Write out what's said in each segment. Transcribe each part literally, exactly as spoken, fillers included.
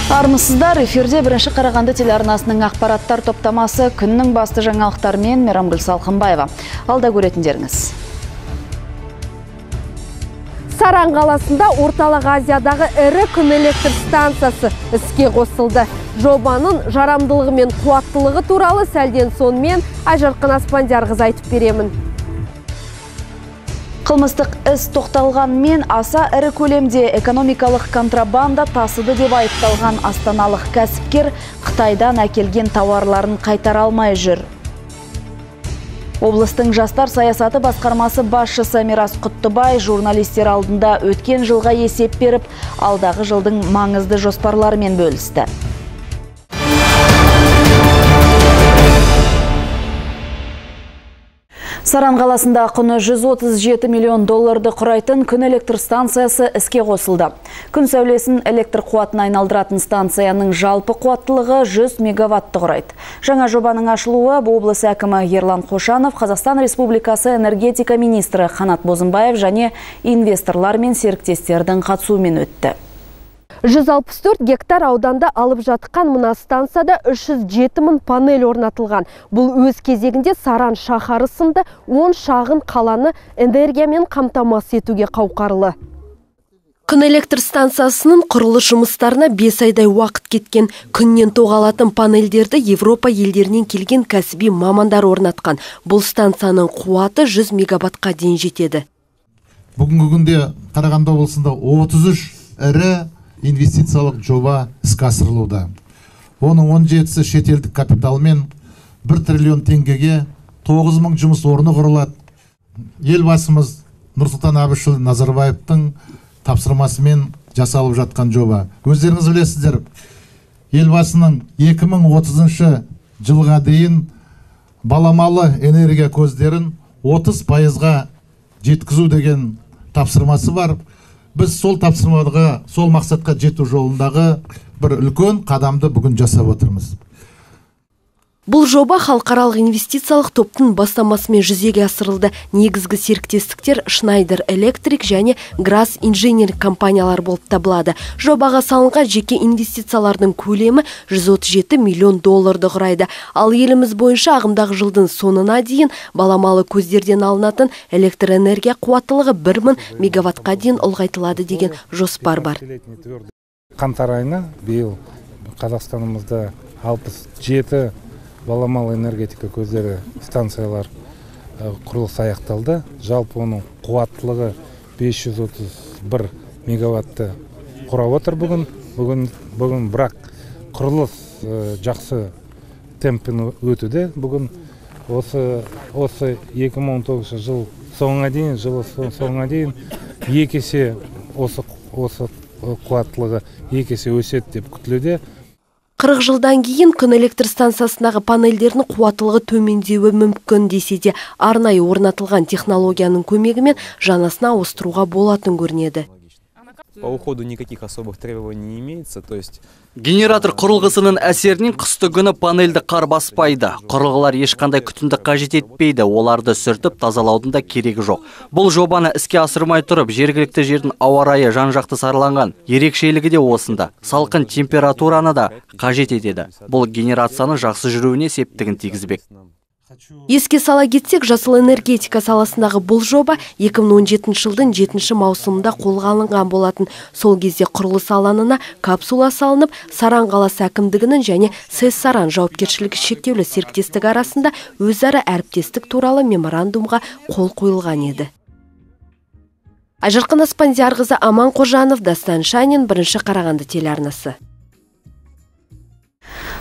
Армысыздар, эфирде бірінші Қарағанды телеарнасының ақпараттар топтамасы күннің басты жаңалықтарымен Мейрамгүл Салқынбаева. Алда көретіндеріңіз. Саран қаласында орталық Азиядағы ірі күн электр станциясы іске қосылды. Жобаның жарамдылығы мен қуаттылығы туралы сәлден сонымен Айжарқын Аспандиярқызы айтып беремін. Қылмыстық іс тоқталғанмен аса ірі көлемде экономикалық контрабанда тасыды деп айыпталған астаналық кәсіпкер Қытайдан әкелген тауарларын қайтара алмай жүр. Облыстың жастар саясаты басқармасы басшысы Мирас Құттыбай журналистер алдында өткен жылға есеп беріп, алдағы жылдың маңызды жоспарларымен бөлісті. Саран қаласында құны жүз отыз жеті миллион долларды құрайтын күн электр станциясы іске қосылды. Күн сәулесін электр қуатын айналдыратын станцияның жалпы қуаттылығы жүз мегаватты құрайды. Жаңа жобаның ашылуы облыс әкімі Ерлан Қошанов, Қазақстан Республикасы энергетика министрі Қанат Бозымбаев және инвесторлар мен серіктестердің қатысуымен өтті. жүз алпыс төрт гектар ауданда алып жатқан мына станцияда үш жүз жеті мың панель орнатылған. Бұл өз кезегінде Саран шаһары сынды он шағын қаланы энергиямен қамтамасыз етуге қауқарлы. Күн электр станциясының құрылыс жұмыстарына бес айдай уақыт кеткен. Күннен тоғалатын панельдерді Европа елдерінен келген кәсіби мамандар орнатқан. Бұл станцияның қуаты жүз мегаваттқа дейін жетеді. Бүгінгі күнде Қарағанды облысында отыз үш ірі инвестициялық жоба іске асырылуда. Оның он жетісі шетелдік капиталмен бір триллион теңгеге тоғыз мың жұмыс орны құрылады. Елбасымыз Нұрсұлтан Әбішұлы Назарбаевтың тапсырмасымен жасалып жатқан жоба. Өздеріңіз білесіздер, елбасының екі мың отызыншы жылға дейін баламалы энергия көздерін отыз пайызға жеткізу деген тапсырмасы бар. Біз сол тапсырмаға, сол мақсатқа жету жолындағы бір үлкен қадамды бүгін жасап отырмыз. Бұл жоба халықаралық инвестициялық топтың бастамасымен жүзеге асырылды. Негізгі серіктестіктер Schneider Electric және Gras Engineering компаниялар болып табылады. Жобаға салынған жеке инвестициялардың көлемі жүз отыз жеті миллион долларды құрайды. Ал еліміз бойынша ағымдағы жылдың соңына дейін баламалы көздерден алынатын электр энергия қуаттылығы бір мың мегаваттқа дейін ұлғайтылады деген жоспар бар. Қаңтар айына биыл Қазақстанымызда алпыс жеті баламалы энергетика көздері станциялар құрылыс аяқталды. Жалпы оның қуаттылығы бес жүз отыз бір мегаватты құрап отыр бүгін. Бүгін, бүгін бірақ құрылыс жақсы темппен өтуде. Бүгін осы, осы екі мың он тоғызыншы жыл соңына дейін, жыл соңына дейін екі есе осы, осы қуаттылығы екі есе өседі деп күтілуде. қырық жылдан кейін күн электр станциясындағы панельдердің қуаттылығы төмендеуі мүмкін десе де, арнайы орнатылған технологияның көмегімен жанасына ауыстыруға болатын көрінеді. По уходу никаких особых требований не имеется, то есть генератор құрылғысының әсерінен қысты күні панельді қар баспайды. Құрылғылар ешқандай күтімді қажет етпейді, оларды сүртіп тазалаудың да керегі жоқ. Бұл жобаны іске асырмай тұрып, жергілікті жердің ауа райы жан-жақты сараланған. Ерекшелігі де осында. Салқын температураны да қажет етеді. Бұл генерацияның жақсы жүруіне септігін тигізбек. Еске сала кетсек, жасыл энергетика саласындағы бұл жоба екі мың он жетінші жылдың жетінші маусымында қолға алынған болатын. Сол кезде құрылыс алаңына капсула салынып, Саран қаласы әкімдігінің және сэс Саран жауапкершілігі шектеулі серіктестік арасында өзара әріптестік туралы меморандумға қол қойылған еді. Айжарқын Аспандиярқызы, Аман Қожанов, Дастан Шанин, бірінші Қарағанды телеарнасы.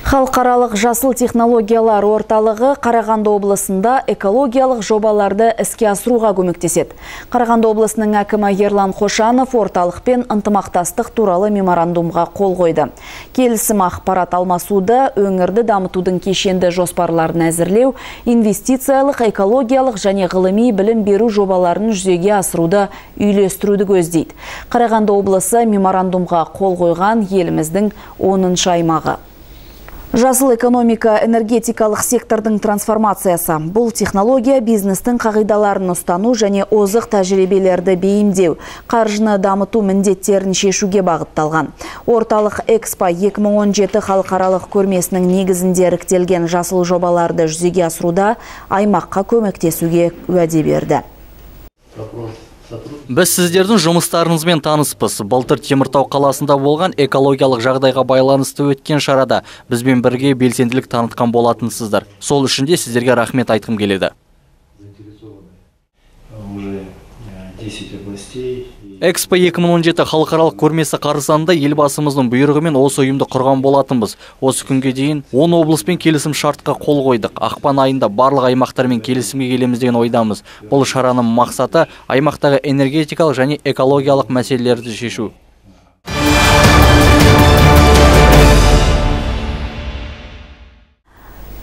Халықаралық жасыл технологиялар орталығы Қарағанды облысында экологиялық жобаларды іске асыруға көмектеседі. Қарағанды облысының әкімі Ерлан Қошанов орталықпен ынтымақтастық туралы меморандумға қол қойды. Келісім ақпарат алмасуды, өңірді дамытудың кешенді жоспарларын әзірлеу, инвестициялық, экологиялық және ғылыми білім беру жобаларын жүзеге асыруды үйлестіруді көздейді. Қарағанды облысы меморандумға қол қойған еліміздің оныншы аймағы. Жасыл экономика энергетикалық сектордың трансформациясы. Бұл технология бизнестің қағидаларын ұстану және озық тәжірибелерді бейімдеу, қаржыны дамыту міндеттерін шешуге бағытталған. Орталық Экспо екі мың он жеті халықаралық көрмесінің негізінде іріктелген жасыл жобаларды жүзеге асыруда аймаққа көмектесуге уәде берді. Біз сіздердің жұмыстарыңызбен таныспыз. Былтыр Теміртау қаласында болған экологиялық жағдайға байланысты өткен шарада бізбен бірге белсенділік танытқан болатынсыздар. Сол үшін де сіздерге рахмет айтқым келеді. Экспо екі мың он жеті халықаралық көрмесі қарсаңында елбасымыздың бұйрығымен осы ұйымды құрған болатынбыз. Осы күнге дейін он облыспен келісім шартқа қол қойдық. Ақпан айында барлық аймақтармен келісімге келеміз деген ойдамыз. Бұл шараның мақсаты аймақтағы энергетикалық және экологиялық мәселелерді шешу.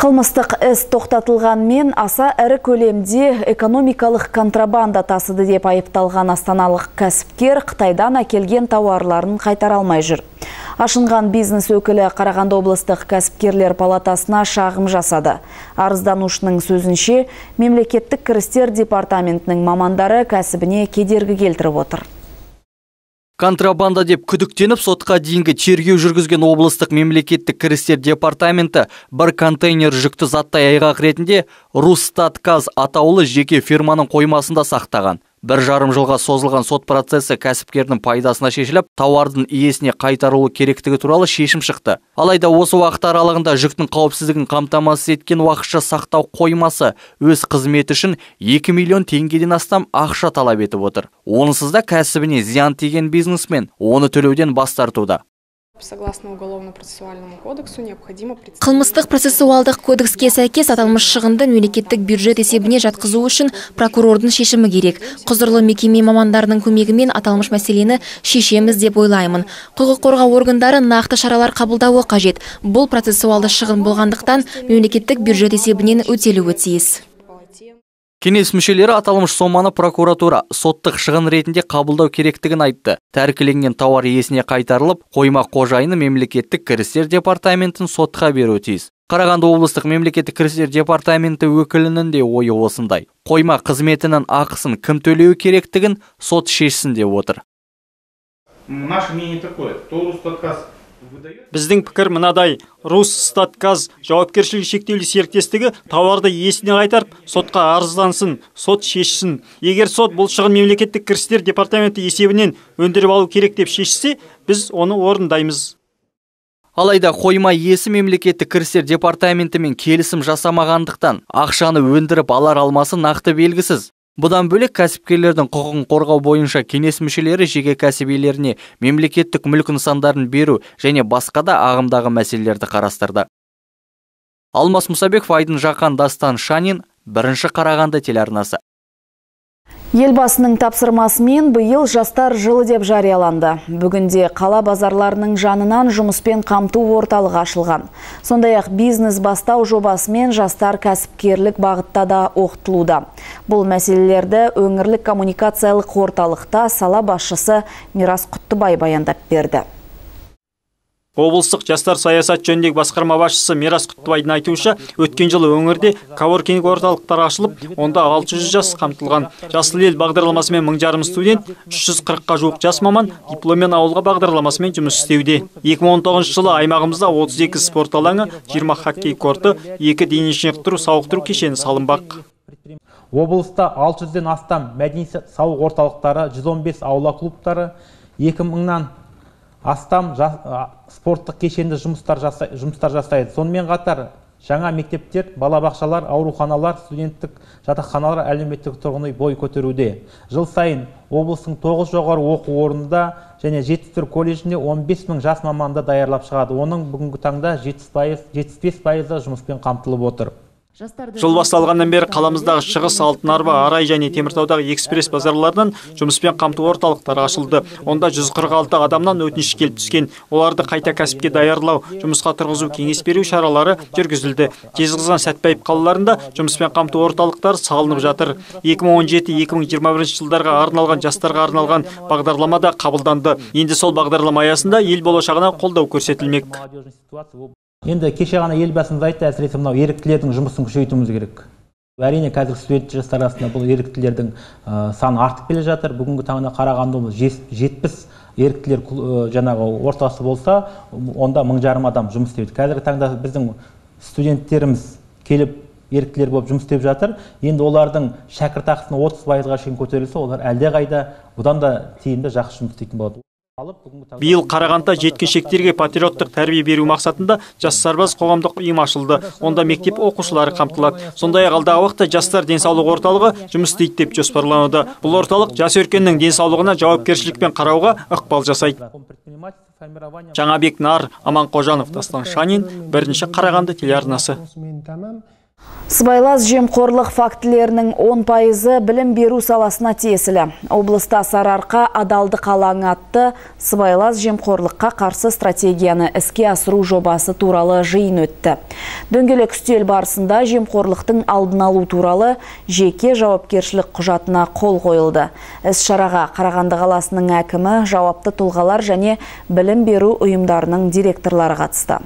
Қылмыстық іс тоқтатылғанмен аса ірі көлемде экономикалық контрабанда тасыды деп айыпталған астаналық кәсіпкер Қытайдан әкелген тауарларын қайтара алмай жүр. Ашынған бизнес өкілі Қарағанды облыстық кәсіпкерлер палатасына шағым жасады. Арызданушының сөзінше, мемлекеттік кірістер департаментінің мамандары кәсібіне кедергі келтіріп отыр. Контрабанда деп күдіктеніп сотқа дейінгі тергеу жүргізген облыстық мемлекеттік кірістер департаменті бір контейнер жүкті заттай айғақ ретінде Росстатказ атаулы жеке фирманың қоймасында сақтаған. Бір жарым жылға созылған сот процесі кәсіпкердің пайдасына шешіліп, тауардың иесіне қайтарылуы керектігі туралы шешім шықты. Алайда осы уақыт аралығында жүктің қауіпсіздігін қамтамасыз еткен уақытша сақтау қоймасы өз қызметі үшін екі миллион теңгеден астам ақша талап етіп отыр. Онсыз да кәсібіне зиян тиген бизнесмен оны төлеуден бас тартуда. Қылмыстық процессуалдық кодекске сәйкес аталмыш шығынды мемлекеттік бюджет есебіне жатқызу үшін прокурордың шешімі керек. Құзырлы мекеме мамандарының көмегімен аталмыш мәселені шешеміз деп ойлаймын. Құқық қорғау органдары нақты шаралар қабылдауы қажет. Бұл процессуалды шығын болғандықтан мемлекеттік бюджет есебінен өтелуі тиіс. Кеңес мүшелері аталмыш соманы прокуратура соттық шығын ретінде қабылдау керектігін айтты. Тәркіленген тауар иесіне қайтарылып, қойма қожайыны мемлекеттік кірістер департаментін сотқа беруі тиіс. Қарағанды облыстық мемлекеттік кірістер департаменті өкілінің де ойы осындай. Қойма қызметінің ақысын кім төлеуі керектігін сот шешсін деп отыр. Наше мнение такое, то Росстатказ Біздің пікір мынадай: Росстатказ жауапкершілігі шектеулі серіктестігі тауарды иесіне қайтарып, сотқа арыздансын, сот шешсін. Егер сот бұл шығын мемлекеттік кірістер департаменті есебінен өндіріп алу керек деп шешсе, біз оны орындаймыз. Алайда қойма иесі мемлекеттік кірістер департаментімен келісім жасамағандықтан ақшаны өндіріп алар алмасы нақты белгісіз. Бұдан бөлек кәсіпкерлердің құқығын қорғау бойынша кеңес мүшелері жеке кәсібилеріне мемлекеттік мүлік нысандарын беру және басқа да ағымдағы мәселелерді қарастырды. Алмас Мұсабеков, Айдын Жақан, Дастан Шанин, бірінші Қарағанды телеарнасы. Елбасының тапсырмасымен биыл жастар жылы деп жарияланды. Бүгінде қала базарларының жанынан жұмыспен қамту орталығы ашылған. Сондай-ақ бизнес бастау жобасымен жастар кәсіпкерлік бағытта да оқытылуда. Бұл мәселелерді өңірлік коммуникациялық орталықта сала басшысы Мирас Құттыбай баяндап берді. Облыстық жастар саясат жөніндегі басқарма басшысы Мирас Құттыбайдың айтуынша, өткен жылы өңірде коворкинг орталықтары ашылып, онда алты жүз жас қамтылған. Жасыл ел бағдарламасымен мың жарым студент, үш жүз қырыққа жуық жас маман дипломмен ауылға бағдарламасымен жұмыс істеуде. екі мың он тоғызыншы жылы аймағымызда отыз екі спорт алаңы, жиырма хоккей корты, екі дене шынықтыру сауықтыру кешені салынбақ. Облыста алты жүзден астам мәдени сауық орталықтары, жүз он бес аула клубтары, екі мыңнан астам спорттық кешенді жұмыстар жасайды. Сонымен қатар жаңа мектептер, балабақшалар, ауруханалар, студенттік жатақханалар, әлеуметтік тұрғын үй бой көтеруде. Жыл сайын облыстың тоғыз жоғары оқу орнында және жетпіс төрт колледжінде он бес мың жас маманды даярлап шығады. Оның бүгінгі таңда жетпіс бес пайызы жұмыспен қамтылып отыр. Жыл басталғаннан бері қаламыздағы Шығыс, Алтын Арба, Арай және Теміртаудағы экспресс базарлардан жұмыспен қамту орталықтары ашылды. Онда жүз қырық алты адамнан өтініш келіп түскен. Оларды қайта кәсіпке даярлау, жұмысқа тұрғызу, кеңес беру шаралары жүргізілді. Жезқазған, Сәтпаев қалаларында жұмыспен қамту орталықтары салынып жатыр. екі мың он жеті екі мың жиырма бірінші жылдарға арналған жастарға арналған бағдарлама да қабылданды. Енді сол бағдарлама аясында ел болашағына қолдау көрсетілмек. Енді кеше ғана елбасымыз айтты, әсіресе мынау еріктілердің жұмысын күшейтуіміз керек. Әрине қазір студент жастар арасында бұл еріктілердің саны артып келе жатыр. Бүгінгі таңда Қарағанды жетпіс еріктілер жаңағы ортасы болса, онда мың жарым адам жұмыс істейді. Қазіргі таңда біздің студенттеріміз келіп еріктілер болып жұмыс істеп жатыр. Енді олардың шәкіртақысына отыз пайызға шейін көтерілсе, олар әлдеқайда бұдан да тиімді жақсы жұмыс істейтін болады. Биыл Қарағандыда жеткіншектерге патриоттық тәрбие беру мақсатында жас сарбаз қоғамдық ұйым ашылды. Онда мектеп оқушылары қамтылады. Сондай-ақ алдағы уақытта жастар денсаулық орталығы жұмыс істейді деп жоспарлануда. Бұл орталық жас өркеннің денсаулығына жауапкершілікпен қарауға ықпал жасайды. Жаңабек Нар, Аман Қожанов, Дастан Шанин, бірінші Қарағанды телеарнасы. Сыбайлас жемқорлық фактілерінің он пайызы білім беру саласына тиесілі. Облыста Сарыарқа адалдық алаңы атты сыбайлас жемқорлыққа қарсы стратегияны іске асыру жобасы туралы жиын өтті. Дөңгелек үстел барысында жемқорлықтың алдын алу туралы жеке жауапкершілік құжатына қол қойылды. Іс-шараға Қарағанды қаласының әкімі, жауапты тұлғалар және білім беру ұйымдарының директорлары қатысты.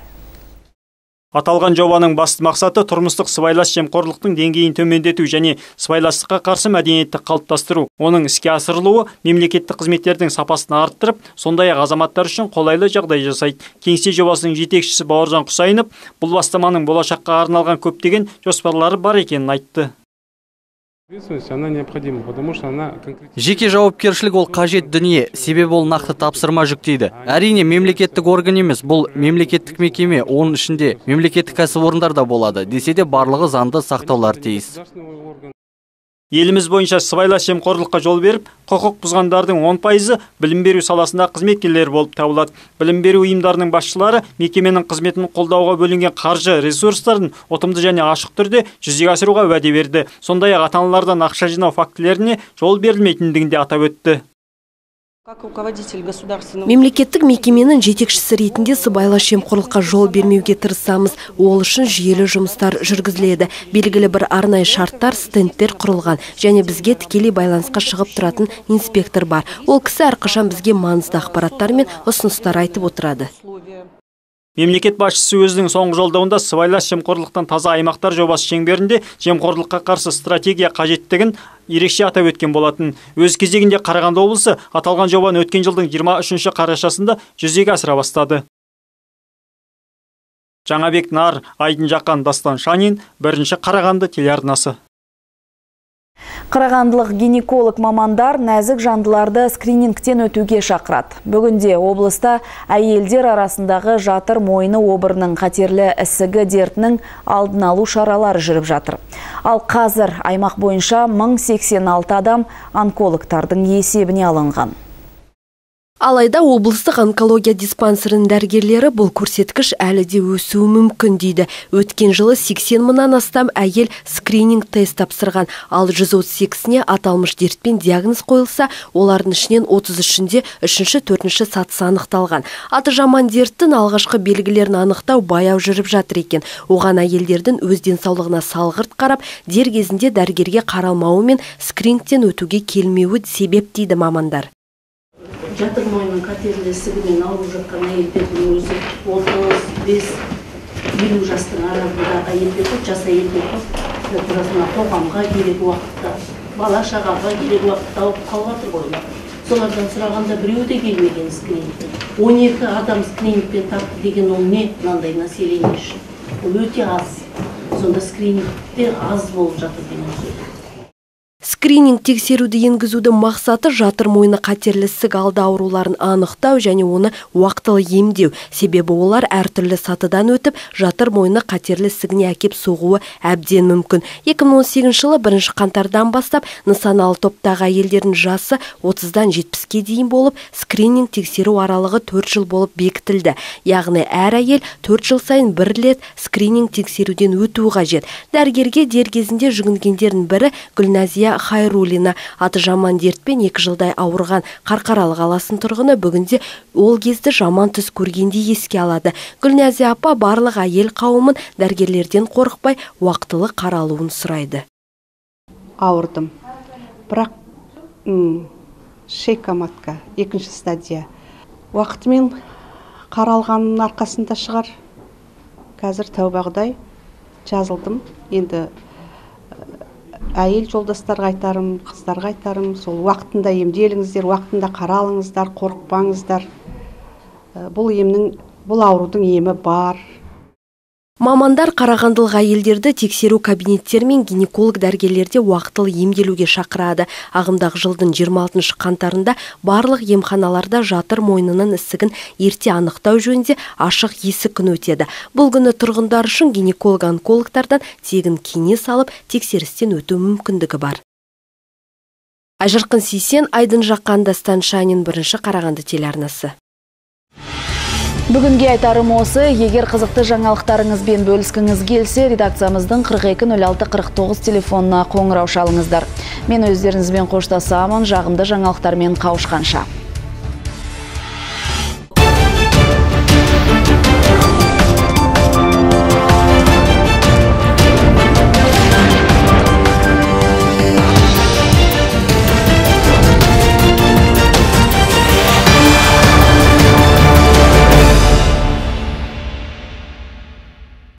Аталған жобаның басты мақсаты тұрмыстық сыбайлас жемқорлықтың деңгейін төмендету және сыбайластыққа қарсы мәдениетті қалыптастыру. Оның іске асырылуы мемлекеттік қызметтердің сапасын арттырып, сондай-ақ азаматтар үшін қолайлы жағдай жасайды. Кеңсе жобасының жетекшісі Бауыржан Құсайынов бұл бастаманың болашаққа арналған көптеген жоспарлары бар екенін айтты. Жеке жауапкершілік ол қажет дүние, себебі ол нақты тапсырма жүктейді. Әрине мемлекеттік орган емес, бұл мемлекеттік мекеме, оның ішінде мемлекеттік кәсіпорындар да болады, десе де барлығы заңды сақтаулар тиіс. Еліміз бойынша сыбайлас жемқорлыққа жол беріп, құқық бұзғандардың он пайызы білім беру саласында қызметкерлер болып табылады. Білім беру ұйымдарының басшылары мекеменің қызметін қолдауға бөлінген қаржы ресурстарын ұтымды және ашық түрде жүзеге асыруға уәде берді. Сондай-ақ ата-аналардан ақша жинау фактілеріне жол берілмейтіндігін де атап өтті. Мемлекеттік мекеменің жетекшісі ретінде сыбайлас жемқорлыққа жол бермеуге тырысамыз. Ол үшін жүйелі жұмыстар жүргізіледі. Белгілі бір арнайы шарттар, стендтер құрылған және бізге тікелей байланысқа шығып тұратын инспектор бар. Ол кісі әрқашан бізге маңызды ақпараттар мен ұсыныстар айтып отырады. Мемлекет басшысы өзінің соңғы жолдауында сыбайлас жемқорлықтан таза аймақтар жобасы шеңберінде жемқорлыққа қарсы стратегия қажеттігін ерекше атап өткен болатын. Өз кезегінде Қарағанды облысы аталған жобаны өткен жылдың жиырма үшінші қарашасында жүзеге асыра бастады. Жаңабек Нар, Айдын Жақан, Дастан Шанин, бірінші Қарағанды телеарнасы. Қарағандылық гинеколог мамандар нәзік жандыларды скринингтен өтуге шақырады. Бүгінде облыста әйелдер арасындағы жатыр мойны обырының қатерлі ісігі дертінің алдын алу шаралары жүріп жатыр. Ал қазір аймақ бойынша мың сексен алты адам онкологтардың есебіне алынған. Алайда облыстық онкология диспансерінің дәрігерлері бұл көрсеткіш әлі де өсуі мүмкін дейді. Өткен жылы сексен мыңнан астам әйел скрининг тест тапсырған, ал жүз отыз сегізіне аталмыш дертпен диагноз қойылса, олардың ішінен отыз үшінде үшінші, төртінші сатысы анықталған. Аты жаман дерттің алғашқы белгілерін анықтау баяу жүріп жатыр екен. Оған әйелдердің өз денсаулығына салғырт қарап, дер кезінде дәрігерге қаралмауы мен скринингтен өтуге келмеуі себеп дейді мамандар. Жатыр мойнының қатерлі ісігімен ауырып жатқан әйелдердің өзі отыз бес елу жастың арасында әйелдер, жас әйелдер тұрасына қоғамға керек уақытта, бала шағаға керек уақытта алып қалып қойылады. Солардан сұрағанда біреу де келмеген скринингтен. он екі адам скринингтен тартты деген ол не мынандай население үшін? Ол өте аз. Сонда скринингтер аз болып жатыр деген сөз. Скрининг тексеруді енгізудің мақсаты жатыр мойны қатерлі ісік алды ауруларын анықтау және оны уақытылы емдеу. Себебі олар әртүрлі сатыдан өтіп, жатыр мойны қатерлі ісігіне әкеп соғуы әбден мүмкін. екі мың он сегізінші жылы бірінші қаңтардан бастап нысаналы топтағы әйелдердің жасы отыздан жетпіске дейін болып, скрининг тексеру аралығы төрт жыл болып бекітілді. Яғни әр әйел төрт жыл сайын бір рет скрининг тексеруден өтуі қажет. Дәрігерге дер кезінде жүгінгендердің бірі Гүлназия Хайрулина. Аты жаман дертпен екі жылдай ауырған Қарқаралы қаласының тұрғыны бүгінде ол кезді жаман түс көргендей еске алады. Гүлназия апа барлық әйел қауымын дәрігерлерден қорықпай уақытылы қаралуын сұрайды. Ауырдым. Бірақ шейка матка, екінші стадия. Уақытымен қаралғанның арқасында шығар. қазір тәубағыдай жазылдым. Енді әйел жолдастарға айтарым, қыздарға айтарым, сол уақытында емделіңіздер, уақытында қаралыңыздар, қорықпаңыздар. Бұл емнің, бұл аурудың емі бар. Мамандар қарағандылық әйелдерді тексеру кабинеттері мен гинеколог дәрігерлерде уақытылы емделуге шақырады. Ағымдағы жылдың жиырма алтыншы қаңтарында барлық емханаларда жатыр мойнының ісігін ерте анықтау жөнінде ашық есік күні өтеді. Бұл күні тұрғындар үшін гинеколог-онкологтардан тегін кеңес алып, тексерістен өту мүмкіндігі бар. Айжарқын Сейсен, Айдын Жақан, Дастан Шанин, бірінші Қарағанды телеарнасы. Бүгінге айтарым осы, егер қызықты жаңалықтарыңызбен бөліскіңіз келсе, редакциямыздың қырық екі нөл алты қырық тоғыз телефонына қоңырау шалыңыздар. Мен өздеріңізбен қоштасамын, жағымды жаңалықтармен қауышқанша.